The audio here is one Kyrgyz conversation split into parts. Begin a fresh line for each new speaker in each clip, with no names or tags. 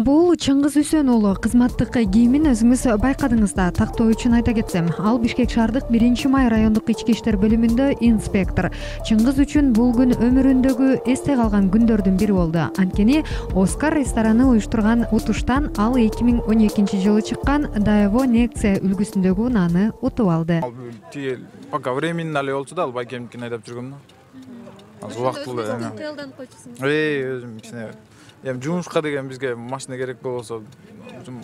Бул Чыңгыз Үсөн уулу кызматтык кийимин өзүңүз байкадыңыз да. Тактоо үчүн айта кетсем, ал Бишкек шаардык 1-май райондук ички иштер бөлүмүндө инспектор. Чыңгыз үчүн бул күн өмүрүндөгү эсте калган күндөрдүн бири болду. Анткени Оскар рестораны уюштурган утуштан ал 2012-жылы чыккан Даево Некция үлгүсүндөгү унааны утуп алды.
Пока времени эле болчу да, ал байкемдикин айдап жүргөм да. Аз убактылуу.
Тыялданып койчусуң.
Өзүм кичине жумушка деген бизге машина керек болсо,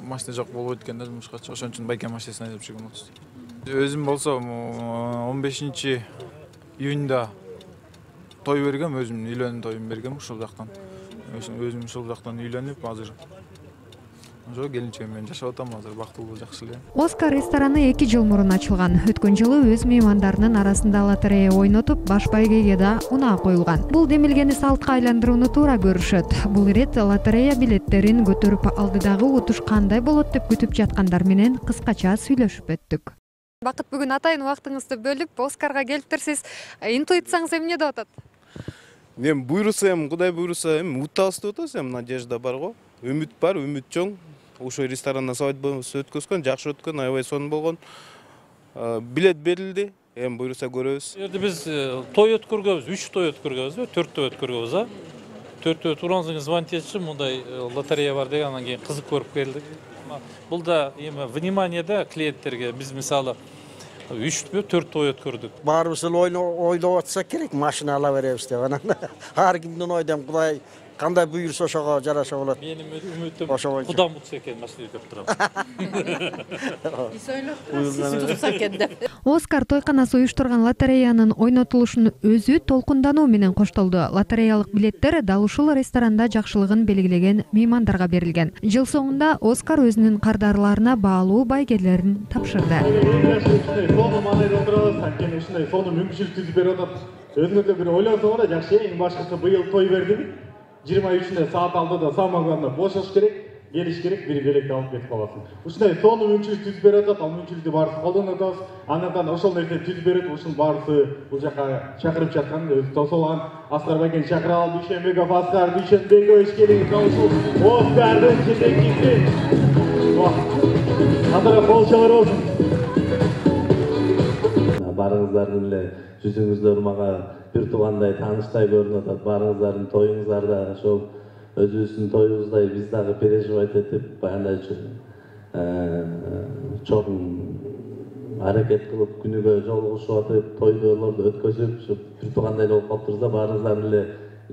машина жок болбойт экен да жумушка. Ошон үчүн байке машинасын айдап жүргөм болчу. Өзүм болсо 15-июнда той бергем, өзүм үйлөнүү тоюн бергем ушул жактан. Өзүм ушул жактан үйлөнүп, азыр ошо келинчегим менен жашап атам, азыр бактылуу, жакшы эле.
Оскар рестораны 2 жыл мурун ачылган. Өткөн жылы өз меймандарынын арасында лотерея ойнотуп, баш байгеге да унаа коюлган. Бул демилгени салтка айландырууну туура көрүшөт. Бул ирет лотерея билеттерин көтөрүп алды дагы утуш кандай болот деп күтүп жаткандар менен кыскача сүйлөшүп өттүк.
Бакыт, бүгүн атайын убактыңызды бөлүп Оскарга келиптирсиз. Интуицияңыз эмне деп атат?
Эми буйруса, Кудай буйруса, утабыз деп атабыз, надежда бар го. Үмүт бар, үмүт чоң. Ошол ресторандан свадьбасы өткөзгөн, жакшы өткөн, аябай сонун болгон. Билет берилди, эми буйруса көрөбүз.
Жерде биз той өткөргөбүз, 3 той өткөргөбүз, 4 той өткөргөбүз, 4 той турганыңызга звонить этишип, мындай лотерея бар деген, анан кийин кызык көрүп келдик. Бул да эми внимание да клиенттерге. Биз мисалы 3-4 той өткөрдүк.
Баарыбыз ойлоп атсак керек, машина ала беребиз деп. Анан ар кимдин ойдон Кудай кандай буйруса ошого жараша болот.
Менин үмүтүм Кудам утса экен, машина деп турам.
Биз ойлоп турсак экен деп.
Оскар тойканасы уюштурган лотереянын ойнотулушунун өзү толкундануу менен коштолду. Лотереялык билеттер дал ушул ресторанда жакшылыгын белгилеген меймандарга берилген. Жыл соңунда Оскар өзүнүн кардарларына баалуу байгелерин тапшырды.
Сону мүмкүнчүлүк түзүп берип атат. Өзүңөрдө бир ойлосоңор да жакшы. Эң башкысы быйыл той бердиби? 23-нде саат алдыда самогонно бошош керек, келиш керек, бир белекти алып кетип каласың. Ушундай сону мүмкүнчүлүк түзүп берип атат. Ал мүмкүнчүлүктү баарыбыз колдонуп атабыз. Андан ошол нерсени түзүп берет, ушунун баарысы бул жака чакырып жаткан, өзү тосолган Аскар байкени чакыра алып, Дүйшөнбеков Аскар, Дүйшөнбекович келиңиз, ушул Оскардын жетекчиси. Кадыр болчолор болсун.
Барыңыздардын эле жүзүңүздөр мага бир туугандай тааныштай көрүнүп атат. Барыңыздардын тоюңуздарда ошол өзүбүздүн тоюбуздай биз дагы переживать этип, баягындай чоң аракет кылып күнүгө жолугушуп атып, тойлорду өткөзүп, бир туугандай болуп калыптырбыз да, барыңыздардын эле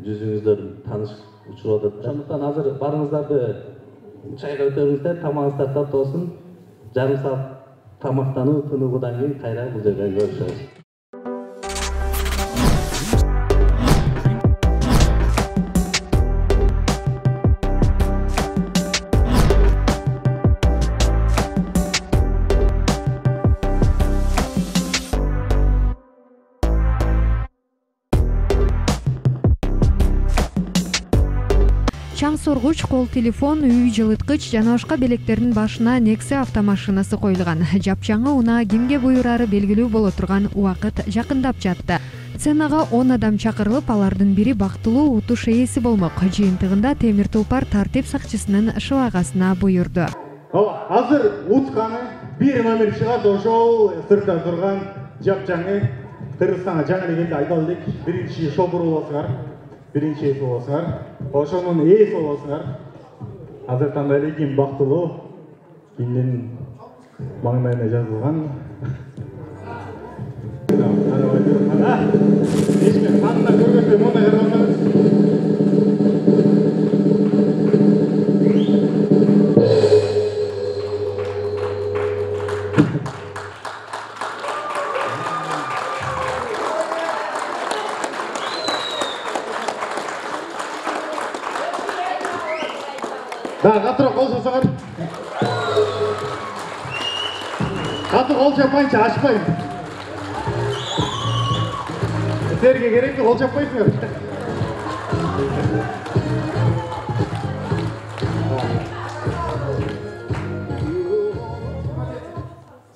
жүзүңүздөр тааныш учуруп атат. Ошондуктан азыр барыңыздарды чайга өтөбүздер, тамагыңыздар таттуу болсун. Жарым саат тамактануу, тыныгуудан кийин кайра бул жерде көрүшөбүз.
Чаң соргуч, кол телефон, үй жылыткыч жана башка белектердин башына Нексе автомашинасы коюлган. Жапжаңы унаа кимге буйрары белгилүү боло турган убакыт жакындап жатты. Сценага 10 адам чакырылып, алардын бири бактылуу утуш ээси болмок. Жыйынтыгында Темир Тулпар тартип сакчысынын шыбагасына буйрду.
Азыр утканы бир номер чыгат, ошол сыртта турган жапжаңы Кыргызстанга жаңы эле келди, айта элек. Биринчи шопур болосуңар. Биринчи ээси болосуңар. Ошонун ээси болосуңар. Азыр танда эле ким бактылуу, кимдин маңдайына жазылган. Эчме канына көргөзбөй мондай карабасаңыз. Да, катыраак кол жасаңар. Катуу кол жаппайынча ачпайм. Силерге керекпи, кол жаппайсыңар.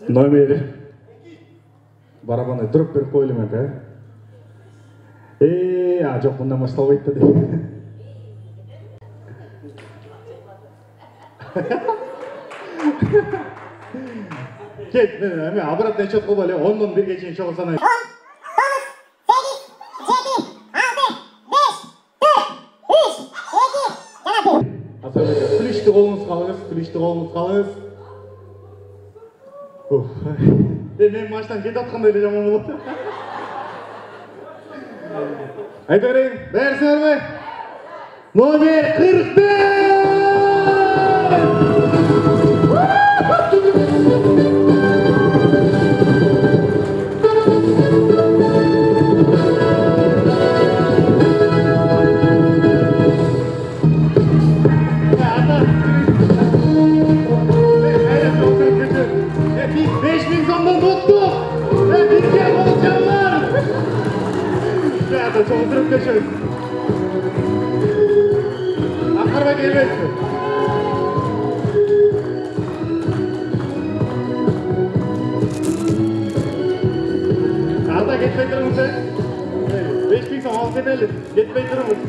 номер барабаны дроп берип коелу эмен жок мындан башталбайт да дейт. Кет, мен обратный отчет кылып эле 10дон 1ге чейин чогуу санайм. 9, 8, 7, 6, 5, 4, 3, 2, 1. Күлүштү колуңузга алыңыз, күлүштү колуңузга алыңыз. Мен маштан кетип аткандай эле жаман болот. Айта берейин, бээрсиңерби? Номер 45! Акырба келбейсиз. Анда кетпей туруңуз, 5000 сом алып кетели. Кетпей туруңуз.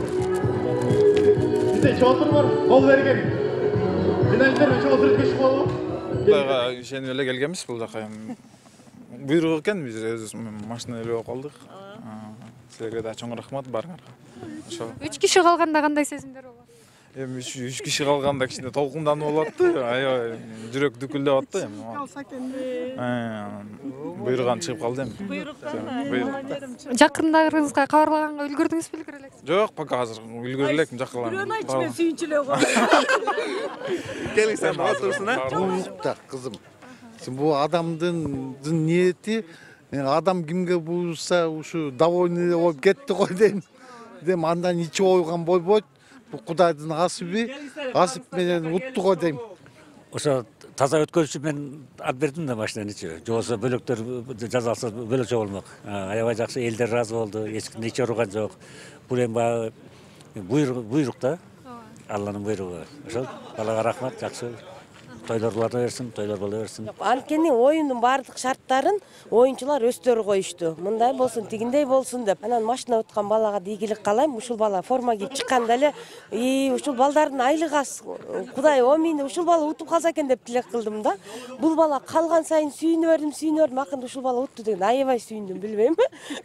Бизде чотур бар, кол берген. Финалистер чотур өткөчүп болобу?
Кудайга ишенип эле келгенбиз бул жака. Буйрук экен, биз өзүбүз машина ээлеп алып калдык. Силерге да чоң рахмат барыңарга.
3 киши калганда кандай сезимдер болот?
Эми 3 киши калганда кичине толкунданып болот да. Аябай жүрөк дүкүлдөп атты эми.
Калса экен.
Буйруган чыгып калды эми.
Буйруктан.
Жакындарыңызга кабарлаганга үлгүрдүңүзбү, үлгүрө элексизби?
Жок, пока азыр үлгүрө элекмин жаккалар.
Бирөөнү айтчы, мен сүйүнчүлөп калдым.
Келиң сен отурсун,
Буйрукта кызым. Бул адамдын ниети, адам кимге буйруса ушу довольный болуп кетти го дейм. Дем андан ичи ойган болбойт. Бул Кудайдын асыби, асып менен утту го дейм.
Ошо таза өткөрүшүп мен алып бердим да машинанычы. Жобосо бөлөктөр жазалса бөлөкчө болмок. Аябай жакшы, элдер ыраазы болду, эч кимде ич ооруган жок. Бул эми баягы буйрук да. Алланын буйругу. Ошол балага рахмат, жакшы. Тойлор боло берсин, тойлор боло берсин.
Анткени оюндун баардык шарттарын оюнчулар өздөрү коюшту. Мындай болсун, тигиндей болсун деп. Анан машина уткан балага да ийгилик каалайм. Ушул бала форма кийип чыкканда эле, ушул балдардын айлыгы аз. Кудай мени ушул бала утуп калса экен деп тилек кылдым да. Бул бала калган сайын сүйүнө бердим. Акырында ушул бала утту деген аябай сүйүндүм, билбейм.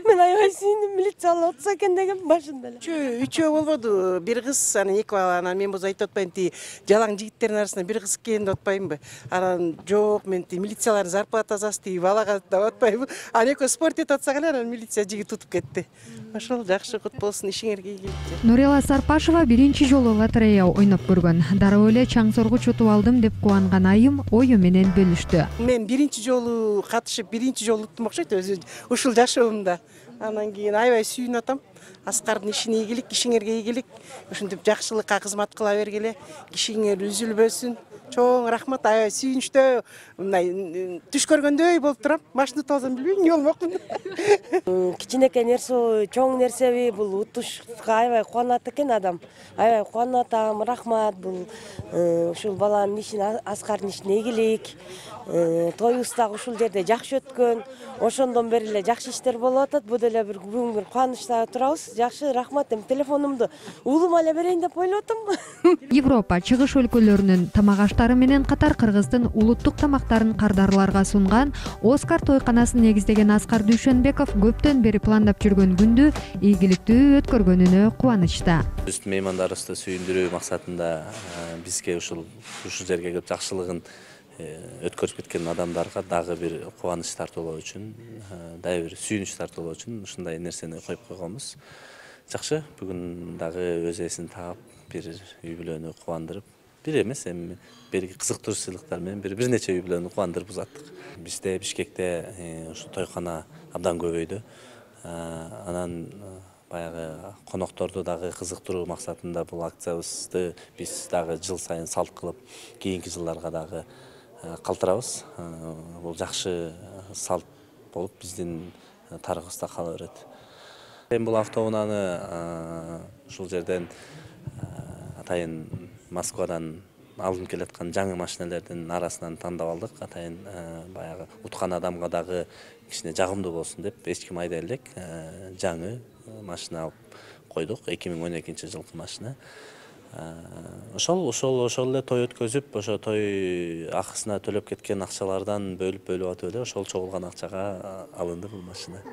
Мен аябай сүйүндүм, милиция бала утса экен деген башында эле.
Үчөө болбоду. Бир кыз, анан эки бала, анан мен болсо айтып атпайм, жалаң жигиттердин арасында бир кыз экен деп атпаймынбы? Анан жок, мен милициялардын зарплатасы аз, балага деп атпаймынбы? Анан экөө спорт этип атсак эле, анан милиция жигит утуп кетти. Ошол жакшы кут болсун, ишиңерге ийгилик.
Нурила Сарпашева биринчи жолу лотерея ойноп көргөн. Дароо эле чаң соргуч утуп алдым деп кубанган айым ою менен бөлүштү.
Мен биринчи жолу катышып, биринчи жолу уттум окшойт өзү ушул жашоомдо. Анан кийин аябай сүйүнүп атам. Аскардын ишине ийгилик, кишиңерге ийгилик. Ушинтип жакшылыкка кызмат кыла бергиле, кишиңер үзүлбөсүн. Чоң рахмат, аябай сүйүнүчтүү, мындай түш көргөндөй болуп турам. Машина тоозон билбейм, эмне болмокмун.
Кичинекей нерсе, чоң нерсеби, бул утушка аябай кубанат экен адам. Аябай кубанып атам, рахмат. Бул ушул баланын ишине, Аскардын ишине ийгилик. Тоюбуз дагы ушул жерде жакшы өткөн. Ошондон бери эле жакшы иштер болуп атат. Бул деле бүгүн бир кубанычта турабыз. Жакшы, рахмат. Эми телефонумду уулума эле берейин деп ойлоп атам.
Европа, чыгыш өлкөлөрүнүн тамак аштары менен катар Кыргыздын улуттук тамактарын кардарларга сунган Оскар тойканасын негиздеген Аскар Дүйшөнбеков көптөн бери пландап жүргөн күндү ийгиликтүү өткөргөнүнө кубанычта.
Биздин меймандарыбызды сүйүндүрүү максатында бизге ушул жерге келип жакшылыгын өткөрүп кеткен адамдарга дагы бир кубаныч тартуулоо үчүн, дагы бир сүйүнүч тартуулоо үчүн ушундай нерсени коюп койгонбуз. Жакшы, бүгүн дагы өз ээсин таап, бир үй бүлөнү кубандырып, бир эмес, эми берги кызыктыруу сыйлыктар менен бир нече үй бүлөнү кубандырып узаттык. Бизде Бишкекте ушу тойкана абдан көбөйдү. Анан баягы конокторду дагы кызыктыруу максатында бул акциябызды биз дагы жыл сайын салт кылып, кийинки жылдарга дагы калтырабыз. Бул жакшы салт болуп биздин тарыхыбызда кала берет. Эми бул автоунааны ушул жерден атайын Москвадан алынып келаткан жаңы машиналердин арасынан тандап алдык. Атайын баягы уткан адамга дагы кичине жагымдуу болсун деп эч ким айдай элек жаңы машина алып койдук. 2012 жылкы машина. Ошол эле той өткөзүп, ошо той акысына төлөп кеткен акчалардан бөлүп атып эле ошол чогулган акчага алынды бул машина.